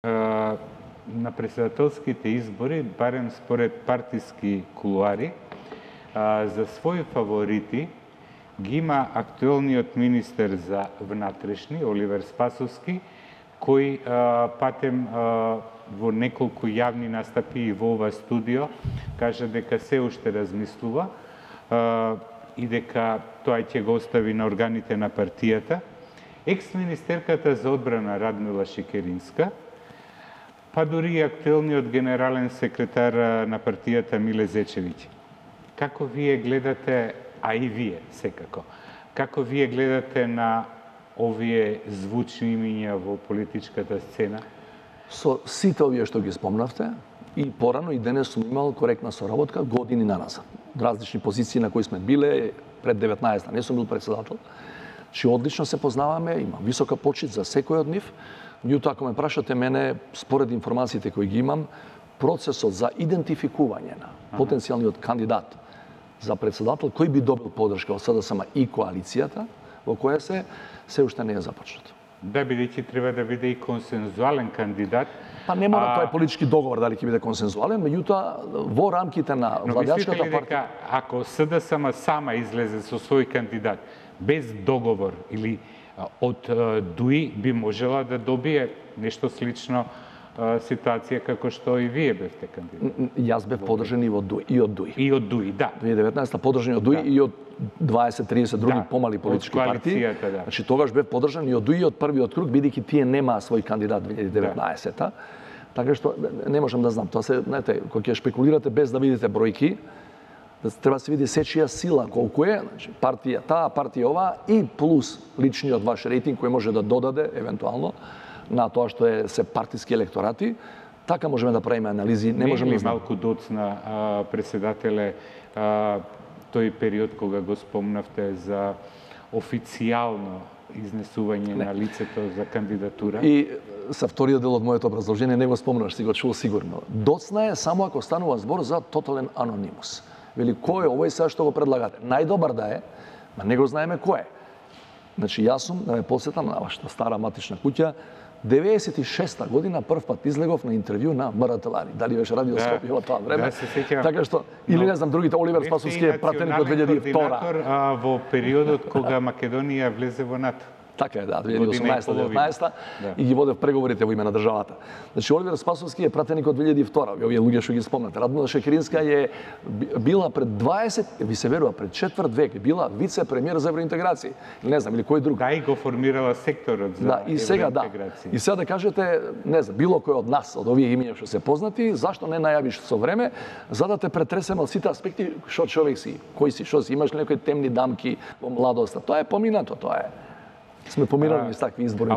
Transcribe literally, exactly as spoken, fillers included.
на председателските избори, барем според партиски кулуари, за своји фаворити ги има актуелниот министер за внатрешни, Оливер Спасовски, кој патем во неколку јавни настапи и во ова студио кажа дека се уште размислува и дека тоа ќе го остави на органите на партијата. Екс-министерката за одбрана Радмила Шекеринска, па дури и актуелниот генерален секретар на партијата Миле Зечевиќ. Како вие гледате, а и вие секако, како вие гледате на овие звучни имиња во политичката сцена? Со сите овие што ги спомнавте, и порано и денес сум имал коректна соработка години наназад. Различни позиции на кои сме биле пред деветнаесетта, не сум бил председател, че одлично се познаваме, имам висока почит за секој од нив. Меѓутоа, ако ме прашате мене, според информациите кои ги имам, процесот за идентификување на потенцијалниот кандидат за председател кој би добил поддршка од СДСМ и коалицијата во која се, се уште не е започнато. Да, бидејќи треба да биде и консензуален кандидат. Па не мора, а... тоа е политички договор дали ќе биде консензуален, меѓутоа во рамките на владеачката партија. Дека ако СДСМ сама излезе со свој кандидат без договор или од ДУИ би можела да добие нешто слично ситуација како што и вие бевте кандидат? Јас бев подржан и од ДУИ. И од ДУИ, и од ДУИ, да. две илјади и деветнаесетта подржан и од ДУИ да. И од дваесет-тридесет други да. Помали политички партии. Да. Значи тогаш бев подржан и од ДУИ од првиот круг, бидејќи тие немаа свој кандидат две илјади и деветнаесетта. Да. Така што не можам да знам. Тоа се, знаете, кога ќе шпекулирате без да видите бројки, треба да се види сечија сила колку е, значи партија таа, партија оваа и плюс личниот ваш рейтинг кој може да додаде евентуално на тоа што е се партиски електорати, така можеме да правиме анализи, не, не можеме да знам. Малку доцна а, председателе а, тој период кога го спомнавте за официјално изнесување не. На лицето за кандидатура. И са вториот дел од моето образложение не го спомнаш, си го чул сигурно. Доцна е само ако станува збор за тотален анонимус. Вели, кој е овој сега што го предлагате? Најдобар да е, ма не го знаеме кој е. Значи, јас сум, да ме подсетам на вашата стара матична куќа, деветдесет и шеста година прв пат излегов на интервју на МРТВ. Дали беше радио да, Скопје во тоа време? Да, се сеќавам. Така што, или не знам, другите, Оливер Спасовски е пратеник од две илјади и втора. А, во периодот кога Македонија влезе во НАТО. Така е, да, две илјади и осумнаесетта деветнаесетта да. И ги водев преговорите во име на државата. Значи, Оливер Спасовски е пратеник од две илјади и втора. Овие луѓе што ги спомнате. Радмила Шекеринска е била пред дваесет, ви се верува, пред четврт век, била вице-премиер за евроинтеграција. Или не знам, или кој друг. Да, и го формирала секторот за да, и сега, да. И сега да кажете, не знам, било кој од нас, од овие имиња што се познати, зашто не најавиш со време, за да те претресеме од сите аспекти, што човек си, кој си, што си, имаш ли некои темни дамки во младоста. Тоа е поминато, тоа е. Сме помирали низ такви избори.